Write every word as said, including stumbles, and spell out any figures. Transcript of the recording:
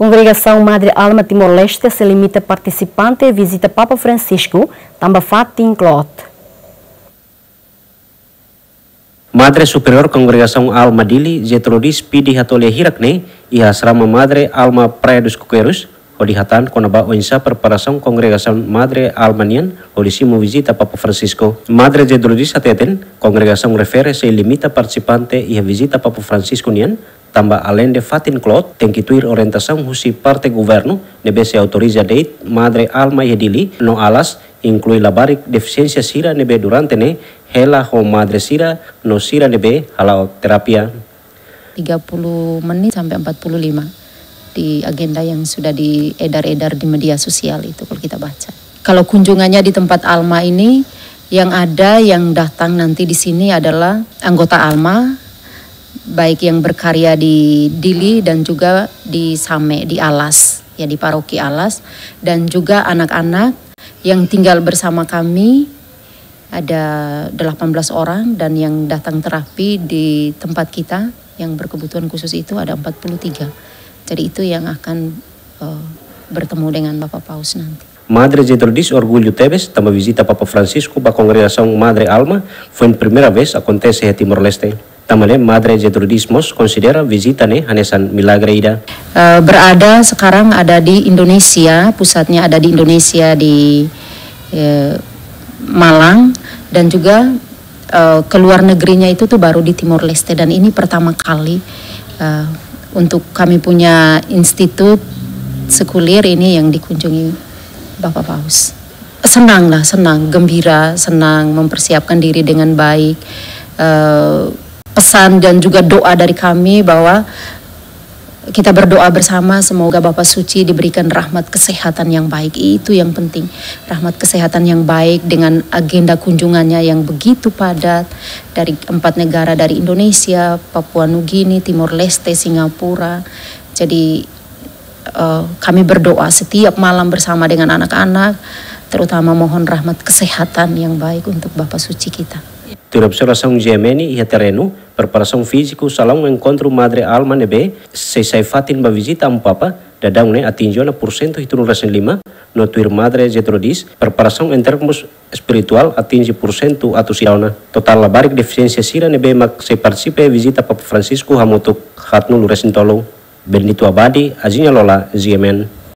Kongregasaun Madre Alma Timor-Leste sei limita partisipante vizita Papa Francisco tanba fatin kloot. Madre Superiór Kongregasaun Alma Dili, Gertrudis Pidi Hatolia hirak ne'e, iha asrama Madre Alma Praia dos Coqueiros, hodi hatán kona-ba oinsá preparasaun Kongregasaun Madre Alma nian hodi simu vizita Papa Francisco. Madre Gertrudis hateten, kongregasaun refere sei limita partisipante iha vizita Papa Francisco nian, tanba aleinde fatin kloot, tenke tuir orientasaun husi parte governu ne'ebé sei autoriza de'it Madre Alma iha Dili no Alas, inklui labarik defisiénsia sira ne'ebé durante ne'e hela ho madre sira no sira ne'ebé hala'o terapia. Tiga puluh menit sampai empat puluh lima di agenda yang sudah diedar-edar di media sosial itu, kalau kita baca. Kalau kunjungannya di tempat Alma ini, yang ada, yang datang nanti di sini adalah anggota Alma, baik yang berkarya di Dili dan juga di Same, di Alas, ya, di Paroki Alas, dan juga anak-anak yang tinggal bersama kami, ada delapan belas orang, dan yang datang terapi di tempat kita yang berkebutuhan khusus itu ada empat puluh tiga. Jadi itu yang akan, eh, bertemu dengan Bapak Paus nanti. Madre Gertrudis orgullu tebes tanba vizita Papa Francisco ba kongregasaun Madre Alma foin primeira vez akontese iha Timor-Leste. Tanba ne'e Madre Gertrudis mós konsidera vizita ne'e hanesan milagre ida. Eh, berada sekarang ada di Indonesia, pusatnya ada di Indonesia, di, eh, Malang, dan juga, eh, ke luar negerinya itu tuh baru di Timor-Leste, dan ini pertama kali, eh, untuk kami punya institut sekuler ini yang dikunjungi Bapak Paus. Senang lah, senang, gembira, senang mempersiapkan diri dengan baik. Eh, pesan dan juga doa dari kami bahwa kita berdoa bersama, semoga Bapak Suci diberikan rahmat kesehatan yang baik. Itu yang penting. Rahmat kesehatan yang baik dengan agenda kunjungannya yang begitu padat, dari empat negara, dari Indonesia, Papua Nugini, Timor Leste, Singapura. Jadi, eh, kami berdoa setiap malam bersama dengan anak-anak, terutama mohon rahmat kesehatan yang baik untuk Bapak Suci kita. Tuir observasaun GMN iha terrenu, preparasaun fíziku salaun enkontru Madre Alma ne'ebé sei sai fatin ba vizita Amu Papa, daudaun ne'e atinje ona pursentu hitunulu resin lima, no tuir Madre Gertrudis, preparasaun em termos espirituál atinje pursentu atus ida ona. Totál labarik defisiénsia sira ne'ebé mak sei partisipa iha vizita Papa Francisco hamutuk haatnulu resin tolu. Benedito Abadi, Aziña Lola, GMN.